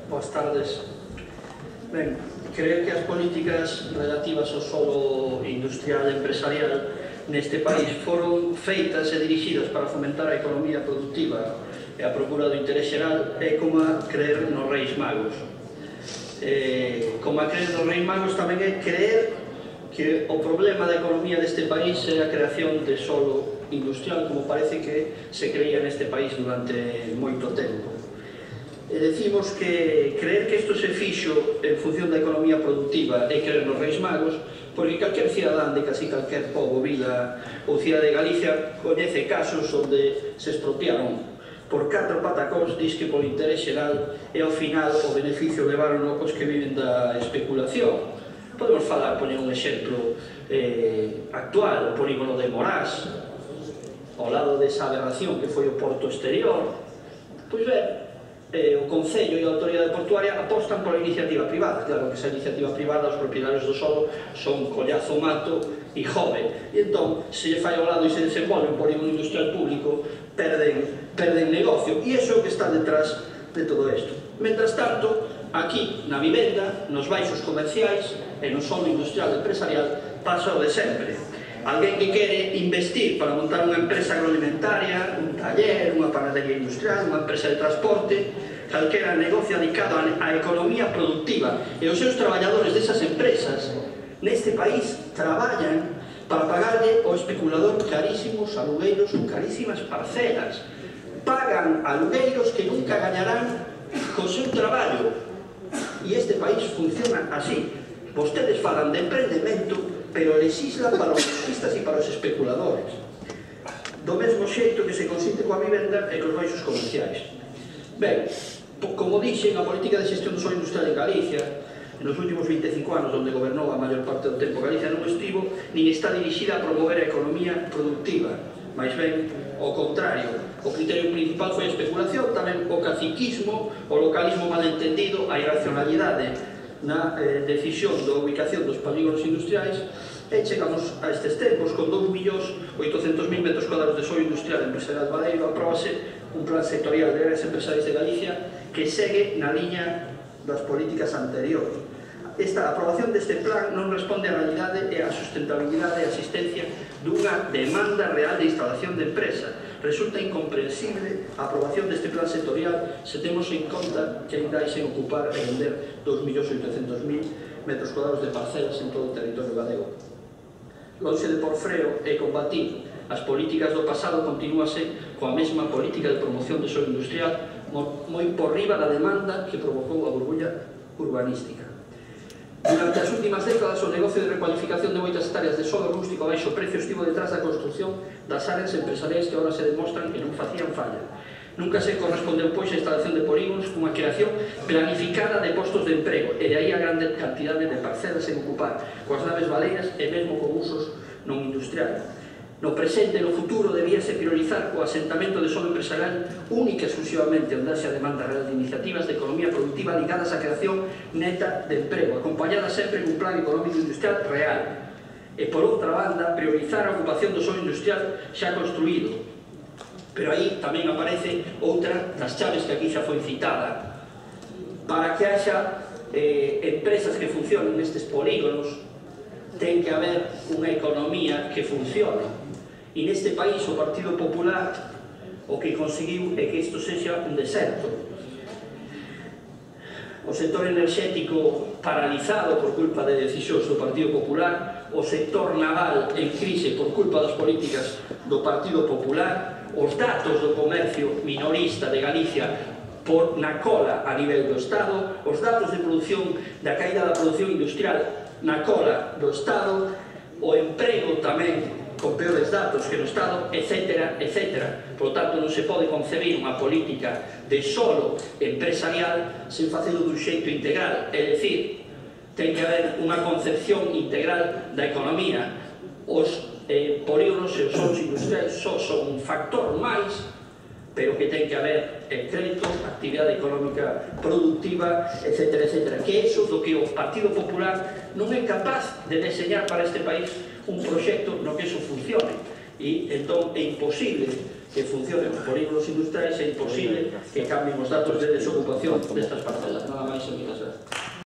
Boas tardes. Ben, creo que as políticas relativas ao solo industrial e empresarial neste país foron feitas e dirixidas para fomentar a economía productiva e a procura do interés xeral é como a creer nos Reis Magos. Como a creer nos Reis Magos tamén é creer que o problema da economía deste país é a creación de solo industrial, como parece que se creía neste país durante moito tempo. E decimos que creer que isto se fixo en función da economía productiva e creer nos Reis Magos, porque calquer cidadán de casi calquer pobo, vila ou cidade de Galicia coñece casos onde se expropiaron por 4 patacóns, diz que por interés xeral e ao final o beneficio levaron os que viven da especulación. Podemos falar, poñer un exemplo actual, o polígono de Morás, ao lado desa aberración que foi o porto exterior. Pois ben, o Concello e a Autoridade Portuaria apostan pola iniciativa privada. Claro que esa iniciativa privada, os propietarios do solo son Collazo Mato e Jove, e entón, se lle fai ao lado e se desenvolve un polígono industrial público, perden negocio, e iso é o que está detrás de todo isto. Mentras tanto, aquí na vivenda, nos baixos comerciais e no solo industrial e empresarial pasa o de sempre. Alguén que quere investir para montar unha empresa agroalimentaria, un taller, unha panadería industrial, unha empresa de transporte, calquera negocio dedicado á economía productiva, e os seus traballadores desas empresas neste país traballan para pagarlle ao especulador carísimos alugueiros ou carísimas parcelas. Pagan alugueiros que nunca gañarán co seu traballo, e este país funciona así. Vostedes falan de emprendemento, pero legislan para os lojistas e para os especuladores, do mesmo xeito que se consiste coa vivenda e cos baixos comerciais. Ben, como dixen, a política de xestión do solo industrial en Galicia nos últimos 25 anos, onde gobernou a maior parte do tempo Galicia, non estivo nin está dirixida a promover a economía productiva, máis ben ao contrario. O criterio principal foi a especulación, tamén o caciquismo, o localismo malentendido, a irracionalidade na decisión da ubicación dos polígonos industriais, e chegamos a estes tempos con 2.800.000 metros cuadrados de solo industrial empresarial Badeiro. Apróbase un plan sectorial de áreas empresariais de Galicia que segue na liña das políticas anteriores. Esta aprobación deste plan non responde á realidade e á sustentabilidade e a asistencia dunha demanda real de instalación de empresa. Resulta incomprensible a aprobación deste plan sectorial se temos en conta que ainda hai sen ocupar e vender 2.800.000 metros cuadrados de parcelas en todo o territorio galego. Lonxe de por freo e combatir as políticas do pasado, continúase coa mesma política de promoción de solo industrial moi por riba da demanda que provocou a burbulla urbanística. Durante as últimas décadas, o negocio de recualificación de moitas hectáreas de solo rústico a baixo precio estivo detrás da construción das áreas empresariais que agora se demostran que non facían falla. Nunca se correspondeu, pois, a instalación de polígonos cunha creación planificada de postos de emprego, e de aí a grande cantidade de parcelas en ocupar, coas naves baleiras e mesmo con usos non industriais. No presente e no futuro debíase priorizar o asentamento de solo empresarial única e exclusivamente onde haxa demanda real de iniciativas de economía productiva ligadas á creación neta de emprego, acompañada sempre cun plan económico industrial real. E por outra banda, priorizar a ocupación do solo industrial xa construído. Pero aí tamén aparece outra das chaves que aquí xa foi citada. Para que haxa empresas que funcionen nestes polígonos, ten que haber unha economía que funcione. E neste país o Partido Popular o que conseguiu é que isto sexa un deserto. O sector enerxético paralizado por culpa de decisións do Partido Popular, o sector naval en crise por culpa das políticas do Partido Popular, os datos do comercio minorista de Galicia na cola a nivel do Estado, os datos de produción da caída da produción industrial na cola do Estado, o emprego tamén con peores datos que no Estado, etc., etc. Por tanto, non se pode concebir unha política de solo empresarial sen facelo dun xeito integral, é dicir, ten que haber unha concepción integral da economía. Os polígonos e os solos industriais só son un factor máis, pero que ten que haber crédito, actividade económica productiva, etc., etc. Que é iso do que o Partido Popular non é capaz de deseñar para este país un proxecto no que iso funcione. E entón é imposible que funcionen os polígonos industriais, é imposible que cambien os datos de desocupación destas parcelas. máis emigración.